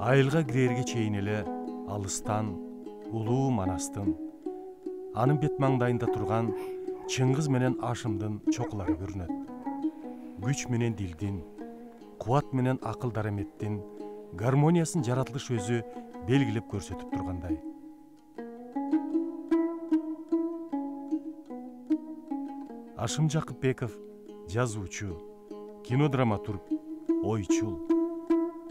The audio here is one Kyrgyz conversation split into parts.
Айылга кирерге чейин эле алыстан улуу Манастын, анын бет маңдайында турган Чыңгыз менен Ашымдын чокулары көрүнөт. Күч менен дилдин, кубат менен акыл дараметтин гармониясын жаратылыш өзү белгилеп көрсөтүп тургандай. Ашым Жакыпбеков жазуучу, кинодраматург, ойчул.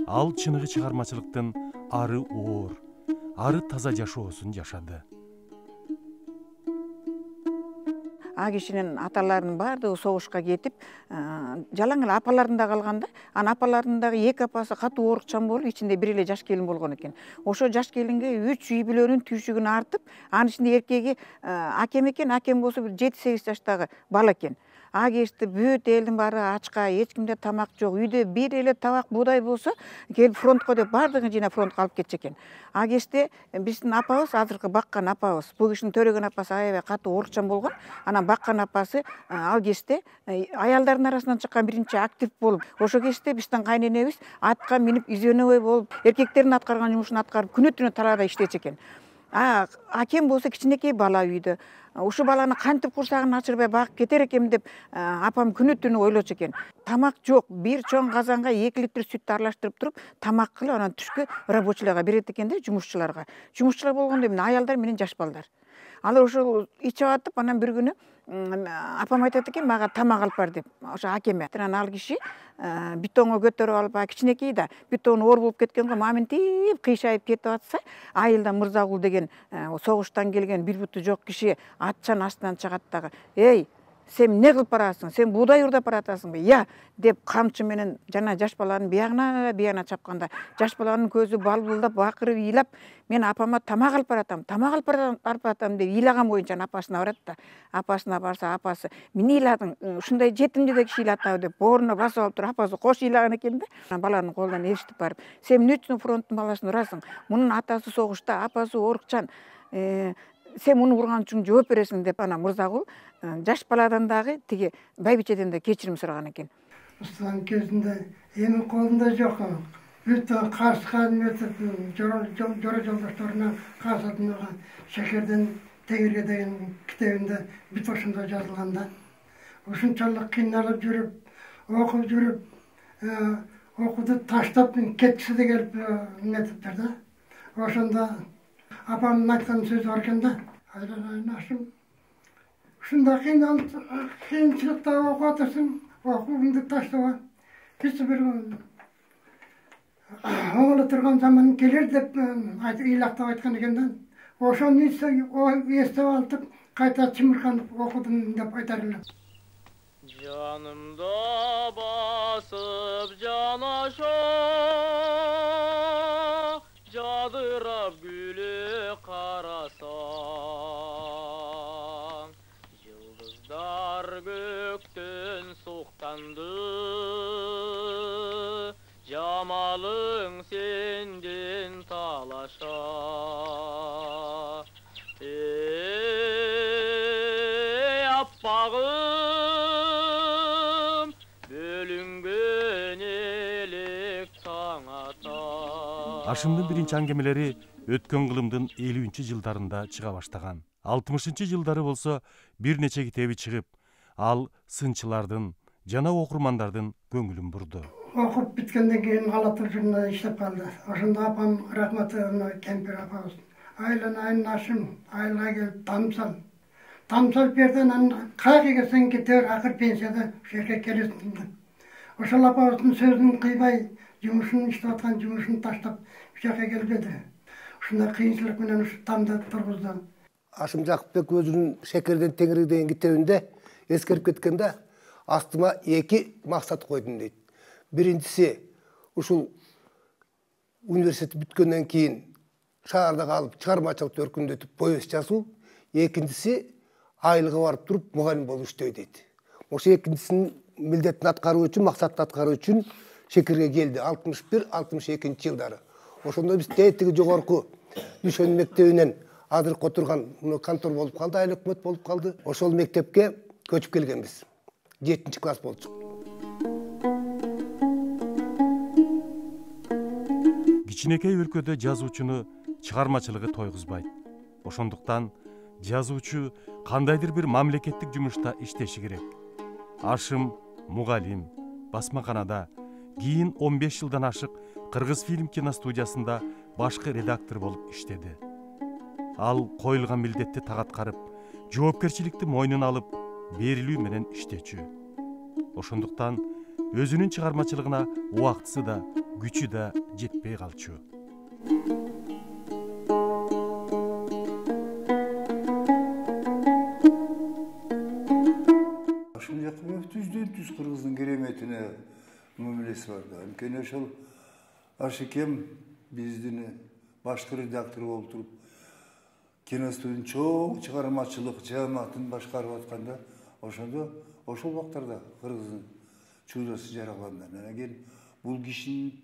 Ал чыныгы чыгармачылыктын ары оор, ары таза жашоосун жашады. А кишинин аталарынын баардыгы согушка кетип, жалаң эле апаларында калганда, анын апаларындагы эки апасы катуу оорукчан болуп, ичинде бир эле жаш келин болгон экен. Ошо жаш келинге 3 үй бүлөнүн түйшүгүн артып, анын ичинде эркеги акем экен, акем болсо бир 7-8 жаштагы бала экен. А кечти бүт элдин баары ачка, эч кимде тамак жок. Үйдө бир эле табак буудай болсо, келип фронтко деп баардыгын жыйнап фронтко алып кетчү экен. А кечте биздин апабыз, азыркы баккан апабыз, бул кишинин төрөгөн апасы аябай катуу оорукчан болгон. Анан баккан апасы ал кечте аялдардын арасынан чыккан биринчи актив болуп, ошо кечте биздин кайненебиз атка минип изөнөбөй болуп, эркектердин аткарган жумушун аткарып, күнү-түнү талаада иштечү экен. Акем болсо кичинекей бала үйдө. Ушу баланы кантип курсагын ачырбай багып кетер экем деп апам күнү-түнү ойлочу экен. Тамак жок, бир чоң казанга 2 литр сүттү аралаштырып туруп, тамак кылып, анан түшкү рабочийларга берет экен да, жумушчуларга. Жумушчулар болгондо эмне, аялдар менен жаш балдар. Алар ошол ичип атып, анан бир күнү апам айтат экен, мага тамак алып бар деп. Ошо акеме. Анан ал киши бетонго көтөрүп алып, кичинекей да, бетон оор болуп кеткен го, маминтип кыйшайып кетип атса, айылда Мырзагул деген согуштан келген бир буту жок киши атчан астынан чыгат дагы. Эй, сен эмне кылып барасың? Сен буудай урдап баратасыңбы? Я, деп камчы менен жана жаш баланын биягына чапканда, жаш баланын көзү балбылдап, бакырып, ыйлап, мен апама тамак алып баратам, деп ыйлаган боюнча апасына барат да. Апасына барса, апасы, "Эмне ыйладың? Ушундай жетимди да киши ыйлатабы?" деп бооруна басып алып туруп, апасы кош ыйлаган экен да. Баланын колунан ээрчитип барып, "Сен эмне үчүн фронттун баласын урасың? Мунун атасы согушта, апасы оорукчан. Сен муну урган үчүн жооп бересиң" деп анан Мырзагул жаш баладан дагы тиги байбичеден да кечирим сураган экен. Устан кезинде эми колунда жок. Бүт кашкан жора жолдошторуна касатына Шекерден тегерге деген китебинде бүт ошондо жазылган да. Ушунчалык кыйналып жүрүп, окуп жүрүп, окууду таштап кеткиси да келип нетиптир да. Ошондо апамдын айткан сөзү бар экен да. Айланайын ушундай кыйынчылыкта окуп атырсың, окууңду таштаба. Биз бир оңоло турган заман келер деп ыйлактап айткан экен да. Ошону эстеп алып кайта чымырканып окудум деп айтар элем. Жанымда басып жанашо, жадырап гүлү карасаң, жылдыздар көктөн суктанды, жамалың сенден талаша. Эй аппагым, бөлүнгөн элек таң ата. Ашымдын биринчи аңгемелери өткөн кылымдын 50-жылдарында чыга баштаган. 60-жылдары болсо бир нече китеби чыгып, ал сынчылардын жана окурмандардын көңүлүн бурду. Окуп биткенден кийин Ала Тыл журналда иштеп калды. Ошондо апам рахматы Кемпир апабыз. Айланайын Ашым, айылга келип тамсал. Тамсал берден анан кайга келсең кетер, акыр пенсияда ушерге келесиң деп. Ошол апабыздын сөзүн кыйбай, жумушун иштеп аткан жумушун таштап ушерге келбеди. Ушундай кыйынчылык менен ушу тамда тургузду. Ашым Жакыпбек өзүнүн Шекерден теңирге деген китебинде эскерип кеткенде, астыма 2 максат койдум дейт. Биринчиси ушул университет бүткөндөн кийин шаарда калып чыгармачылыкты өркүндөтүп повесть жазуу, экинчиси айылга барып туруп мугалим болуп иштөө дейт. Ошо экинчисинин милдетин аткаруу үчүн, максатты аткаруу үчүн Шекерге келди 61-62 жылдары. Ошондо биз тетиги жогорку Дүшөн мектебинен азыркы отурган контор болуп калды, айыл өкмөт болуп калды. Ошол мектепке көчүп келгенбиз. 7-класс болчук. кичинекей өлкөдө жазуучуну чыгармачылыгы тойгузбайт. Ошондуктан жазуучу кандайдыр бир мамлекеттик жумушта иштеши керек. Ашым мугалим, басмаканада, кийин 15 жылдан ашык Кыргыз фильм киностудиясында башкы редактор болуп иштеди. Ал коюлган милдетти так аткарып, жоопкерчиликти мойнуна алып, берилүү менен иштечү. Ошондуктан өзүнүн чыгармачылыгына убактысы да, күчү да жетпей калчу. Ошол жакка түздөн-түз кыргыздын кереметине мамилеси бар да. Анткени ошол Ашыкем биздин башкы редактор болуп туруп, киностудиянын чоң чыгармачылык жааматын башкарып атканда, ошол убактарда кыргыздын чуудасы жаралганда. Анан кийин бул кишинин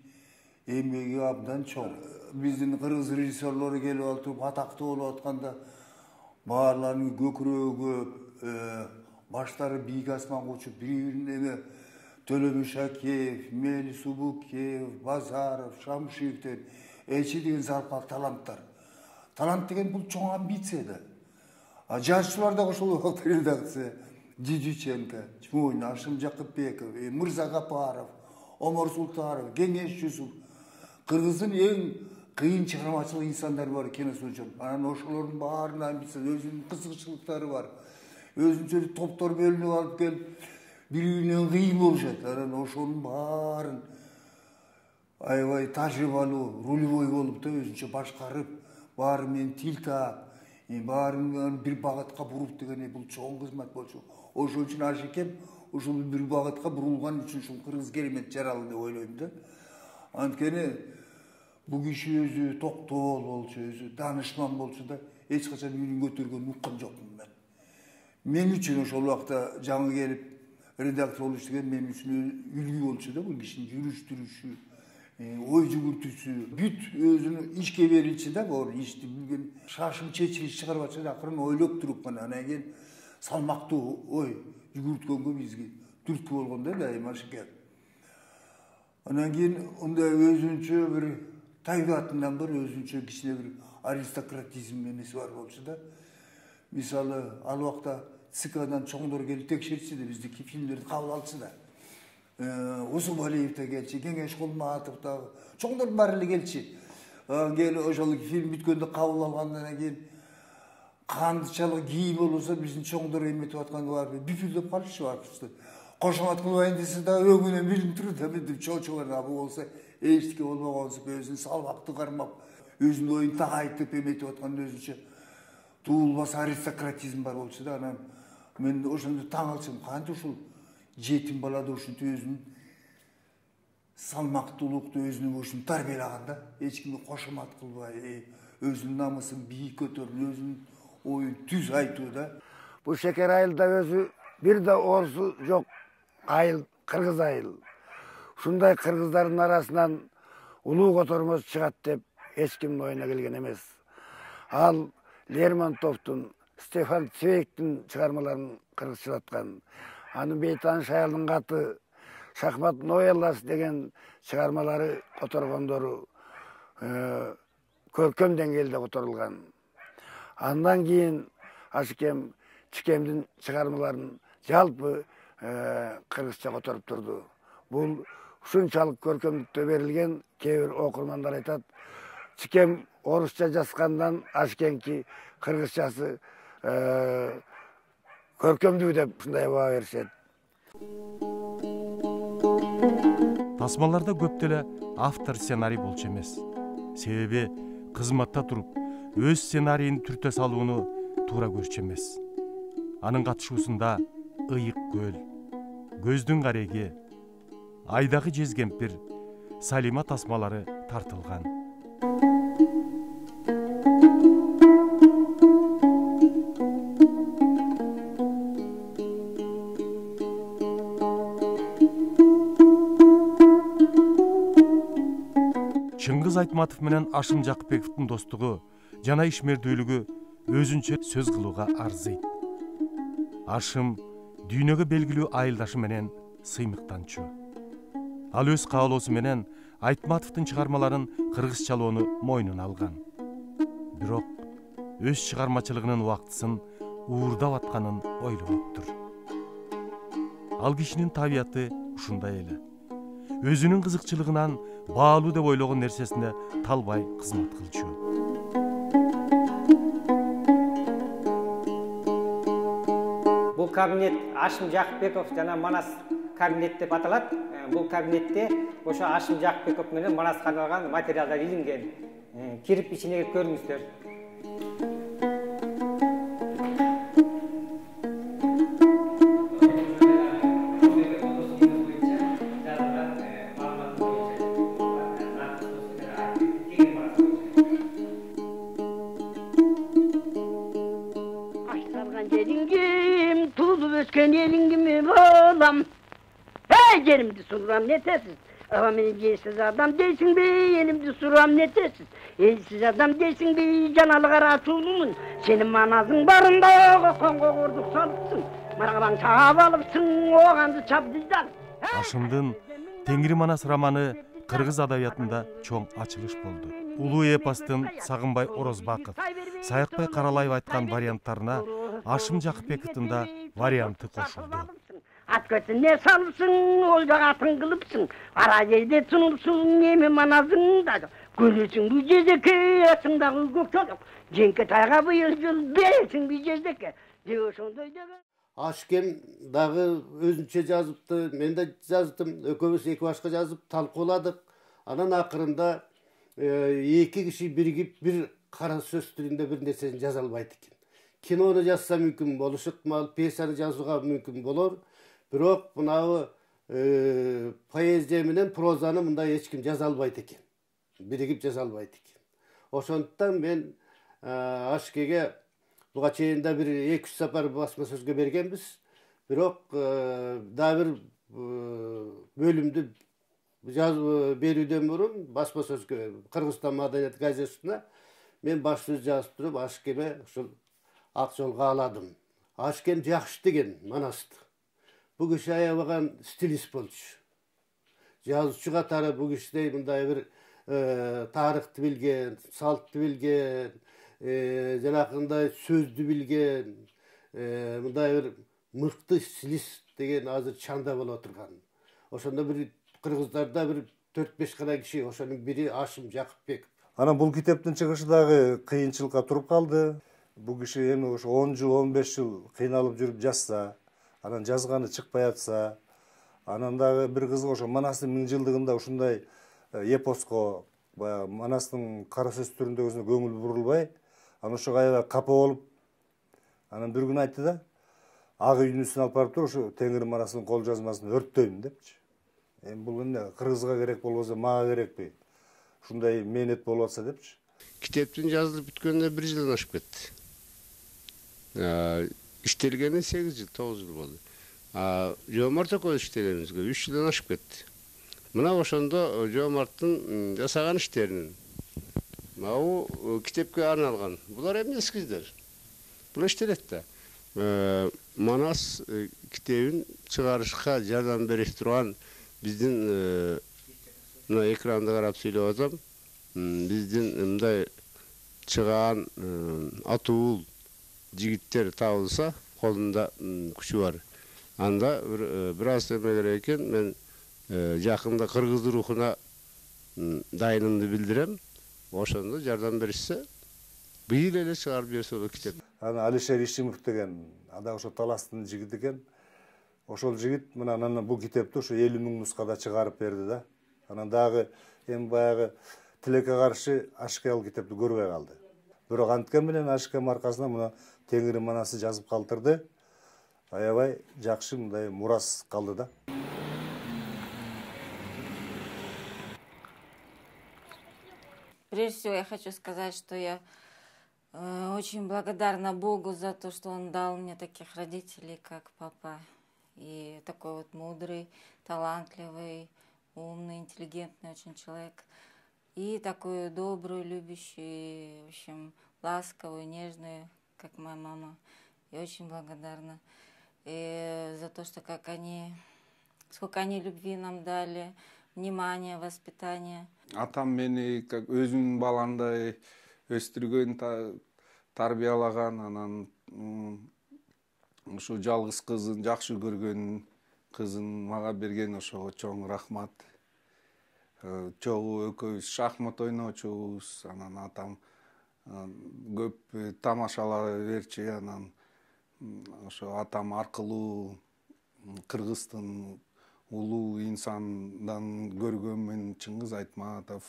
эмгеги абдан чоң. Биздин кыргыз режиссерлору келип алып туруп атактуу болуп атканда, баарларынын көкүрөгү, баштары бийик асманга учуп, бири-бирин Төлөбүш Акеев, Мели Субукеев, Базаров, Шамшиевден эчи деген залпак таланттар. Талант деген бул чоң амбиция да. А жазуучулар да ошол убакта редакция Дидиченко, Чмойн, Ашым Жакыпбеков, Мырза Гапаров, Омар Султанов, Кеңеш Жусуп. Кыргыздын эң кыйын чыгармачылык инсандары бар киностудия. Анан ошолордун баарынын амбициясы, өзүнүн кызыкчылыктары бар. Өзүнчө топтор бөлүнүп алып келип, бири-биринен кыйын болушат. Анан ошонун баарын аябай тажрыйбалуу, рулевой болуп да өзүнчө башкарып, баары менен тил таап, баарын бир багытка буруп деген бул чоң кызмат болчу. Ошол үчүн Ашыкем ушул бир багытка бурулган үчүн ушул кыргыз керемет жаралды деп ойлойм да. Анткени бул киши өзү токтол болчу, өзү данышман болчу да, эч качан үнүн көтөргөнүн уккан жокмун мен. Мен үчүн ошол убакта жаңы келип редактор болуш деген мен үчүн үлгү болчу да, бул кишинин жүрүш-турушу, ой жүгүртүүсү, бүт өзүнүн ишке берилчи да, бул ишти билген, шашым чечилиш чыгарып атса да, акырын ойлоп туруп кана, анан кийин салмактуу ой жүгүрткөнгө бизге түрткү болгон да дайым Ашыкем. Анан кийин ындай өзүнчө бир табиатынан бир өзүнчө кичине бир аристократизм эмеси бар болчу да. Мисалы, ал убакта ЦКдан чоңдор келип текшертчи да, биздики фильмдерди кабыл алчы да. Усубалиев да келчи, Кеңеш Кулматов да, чоңдор баары эле келчи. Келип ошол фильм бүткөндө кабыл алгандан кийин кандычалык кийим болбосо биздин чоңдор эметип атканда бар, бүпүлдөп калышчу барчу. Кошомат кылбайын десе да өңүнөн билинип турат да, бир чоочолор абы болсо эчтеке болбогонсуп, өзүн салмактуу кармап, өзүнүн оюн так айтып эметип атканда өзүнчө туулбас аристократизм бар болчу да. Анан мен ошондо таң калчым, кантип ушул жетим балада ушинтип өзүнүн салмактуулукту өзүнүн ушин тарбиялаган да, эч кимге кошомат кылбай, өзүнүн намысын бийик көтөрүп, өзүнүн оюн түз айтуу да. Бул шекер айылда өзү бир да орусу жок айыл, кыргыз айыл. Ушундай кыргыздардын арасынан улуу котормос чыгат деп эч кимдин оюна келген эмес. Ал Лермонтовдун, Стефан Цвейгтин чыгармаларын кыргызчалаткан. Анын Бейтаныш аялдын каты, Шахмат новелласы деген чыгармалары которгондору көркөм деңгээлде которулган. Андан кийин Ашыкем Чикемдин чыгармаларын жалпы кыргызча которуп турду. Бул ушунчалык көркөмдүктө берилген, кээ бир окурмандар айтат, Чикем орусча жазгандан Ашыкемки кыргызчасы көркөмдүү деп ушундай баа беришет. Тасмаларда көп деле автор сценарий болчу эмес. Себеби кызматта туруп өз сценарийин түртө салууну туура көрчү эмес. Анын катышуусунда Ыйык көл, Көздүн кареги, Айдагы жез кемпир, Салима тасмалары тартылган. Чыңгыз Айтматов менен Ашым Жакыпбековдун достугу жана ишмердүүлүгү өзүнчө сөз кылууга арзыйт. Ашым дүйнөгө белгилүү айылдашы менен сыймыктанчу. Ал өз каалоосу менен Айтматовдун чыгармаларын кыргызчалоону мойнуна алган. Бирок өз чыгармачылыгынын убактысын уурдап атканын ойлоноптур. Ал кишинин табияты ушундай эле. Өзүнүн кызыкчылыгынан баалуу деп ойлогон нерсесине талбай кызмат кылчу. Бул кабинет Ашим Жакыпбеков жана Манас кабинет деп аталат. Бул кабинетте ошо Ашим Жакыпбеков менен Манасқа арналган материалдар илинген. Кирип ичине көрүңүздөр. Yerimdi suram netesiz. Ama beni giysiz adam değilsin be, yerimdi suram netesiz. Elsiz adam değilsin be, canalık araçulumun. Senin manazın barında kongo kurduk salıpsın. Marağaban çağab alıpsın, oğandı çapdızdan. Ашымдын Теңири Манас романы кыргыз адабиятында чоң ачылыш болду. Улуу эпостун Сагынбай Орозбаков, Саякбай Каралаев айткан варианттарына Ашим Жакыпбековдун да варианты кошулду. At götüne salıpsın, olacak atın kılıpsın. Ara yerde sunulsun, yemi manazın da. Görürsün bu cezdeki, yasındağı gök çocuk. Cenke tayga bu yıl, beresin bir cezdeki. Diyorsun doydağı. Ашкем дагы өзүнчө жазыпты, мен да жаздым, экөөбүз эки башка жазып талкууладык. Анан акырында эки киши биригип бир кара сөз түрүндө бир нерсени жаза албайт экен. Кинону жазса мүмкүн болушу ыктымал, пьесаны жазууга мүмкүн болор. Бирок мынабы поэзия менен прозаны мындай эч ким жаза албайт экен. Биригип жаза албайт экен. Ошондуктан мен Ашкеге буга чейин да бир 2-3 сапар басма сөзгө бергенбиз. Бирок дагы бир бөлүмдү берүүдөн мурун басма сөзгө Кыргызстан маданият газетасына мен баш сөз жазып туруп Ашкеме ушул ак жолго аладым. Ашкем жакшы деген Манасты. Бу киши аябаган стилист болчу. Жазуучу катары бу кишидей мындай бир тарыхты билген, салтты билген, жанакындай сөздү билген, мындай бир мыкты стилист деген азыр чанда болуп турган. Ошондо бир кыргыздарда бир 4-5 гана киши, ошонун бири Ашим Жакыпбеков. Анан бул китептин чыгышы дагы кыйынчылыкка туруп калды. Бул киши эми ошо 10 жыл, 15 жыл кыйналып жүрүп жазса, анан жазганы чыкпай атса, анан дагы бир кызык ошо Манастын 1000 жылдыгында ушундай эпоско, баягы Манастын кара сөз түрүндөгүсүнө көңүл бурулбай, анан ошо аябай капа болуп, анан бир күн айтты да, ак үйдүн үстүнө алып барып туруп, ошо Теңири Манастын кол жазмасын өрттөйм депчи. Эми бул эмне кыргызга керек болбосо мага керекпи? Ушундай мээнет болуп атса депчи. Китептин жазылып бүткөнүнө 1 жылдан ашып кетти. İştelgeni 8 yıl, 9 yıl oldu. Жомарт экөөбүз иштегенибизге 3 жылдан ашып кетти. Мына ошондо Жомарттын жасаган иштеринин могу китепке арналган. Булар эмнеси киздер? Бул иштелет да. Манас китебин чыгарышка жардам берип турган биздин мына экранды карап сүйлөп атам. Биздин мындай чыган атуул жигиттер табылса, колунда күчү бар. Анда бир аз эме керек экен, мен жакында кыргыз рухуна дайынымды билдирем. Ошондо жардам беришсе, быйыл эле чыгарып берсе болот китеп. Ана Алишер Ишимов деген ада ошо Таластын жигити экен. Ошол жигит мына анан бул китепти ошо 50 000 нускада чыгарып берди да. Анан дагы эми баягы тилекке каршы Ашке ал китепти көрбөй калды. Бирок анткени менен Ашке маркасына мына Теңири Манасы жазып калтырды. Аябай жакшы мындай мурас калды да. Прежде всего я хочу сказать, что я очень благодарна Богу за то, что Он дал мне таких родителей, как папа. И такой вот мудрый, талантливый, умный, интеллигентный очень человек. И такой добрый, любящий, в общем, ласковый, нежный, как моя мама. Я очень благодарна. И за то, что сколько они любви нам дали, внимание, воспитание. Атам мени как өзүнүн баландай өстүргөн, тарбиялаган, анан ушу жалгыз кызын жакшы көргөн кызын мага берген, ошого чоң рахмат. Чогуу экөөбүз шахмат ойночубуз, анан атам көп тамашалай берчү, анан ошо атам аркылуу Кыргыздын улуу инсандан көргөн мен Чыңгыз Айтматов,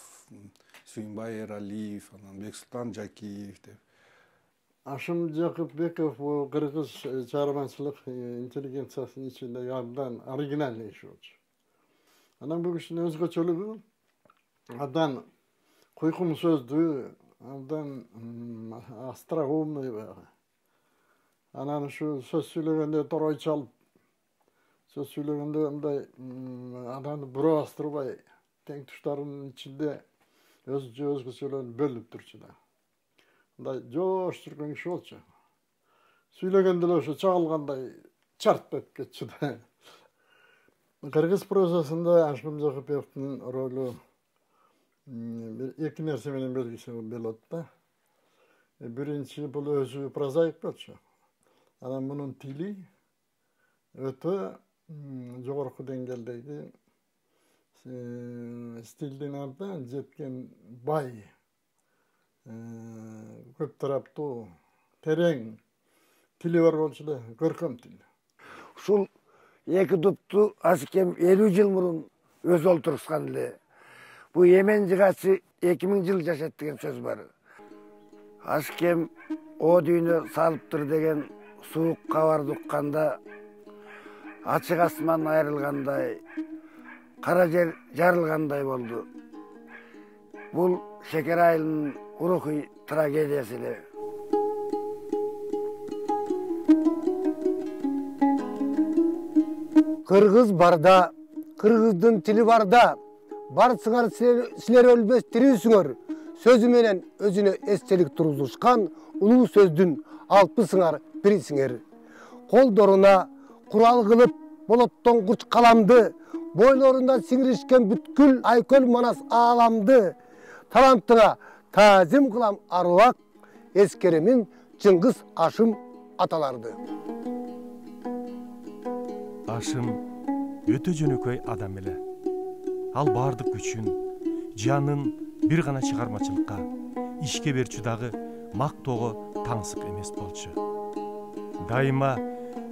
Сүйүнбай Эралиев, анан Бексултан Жакиев деп. Ашым Жакыпбеков кыргыз чыгармачылык интеллигенциясынын ичинде абдан оригинальный иш болчу. Анан бул кишинин өзгөчөлүгү абдан куйкум сөздүү, абдан остроумный баягы. Анан ушу сөз сүйлөгөндө торой чалып, сөз сүйлөгөндө мындай адамды буробастырбай, тең туштарынын ичинде өзгөчөлөрүн бөлүп турчу да. Мындай жоош жүргөн киши болчу. Сүйлөгөндө эле ошо чагылгандай чарт өтүп кетчү да. Кыргыз прозасында Ашым Жакыпбековдун ролу эки нерсе менен белгилесе болот да. Биринчи, бул өзү прозаик болчу. Анан мунун тили өтө жогорку деңгээлдеги стилдин абдан жеткен бай, көп тараптуу, терең тили бар болчу да, көркөм тил. Ушул эки тупту Ашыкем 50 жыл мурун өзү олтурушкан эле. Бу Емен жыгачы 2000 жыл жашайт деген сөз бар. Ашыкем о дүйнө салыптыр деген суук кабарды укканда, ачык асман айрылгандай, кара жер жарылгандай болду. Бул Шекер айылынын рухий трагедиясы эле. Кыргыз барда, кыргыздын тили барда, барсыңар силер өлбөс тирүүсүңөр. Сөзү менен өзүнө эстелик тургузушкан улуу сөздүн алпысыңар бирисиңер. Колдоруна курал кылып болоттонгуч каламды, бойлорунда сиңиришкен бүткүл айкөл манас ааламды, талантыңа таазим кылам аруак, эскеремин Чыңгыз Ашым аталарды. Ашым өтө жөнөкөй адам эле. Ал бардык күчүн, жанын бир гана чыгармачылыкка, ишке берчү дагы мактоого таңсык эмес болчу. Дайыма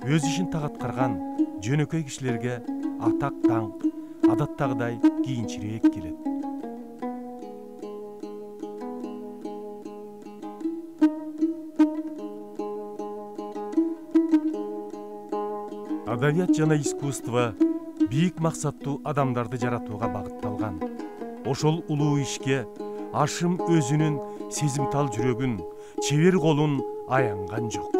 өз ишин так аткарган жөнөкөй кишилерге атак даңк адаттагыдай кийинчирээк келет. Адабият жана искусство бийик максаттуу адамдарды жаратууга багытталган. Ошол улуу ишке Ашым өзүнүн сезимтал жүрөгүн, чебер колун аянган жок.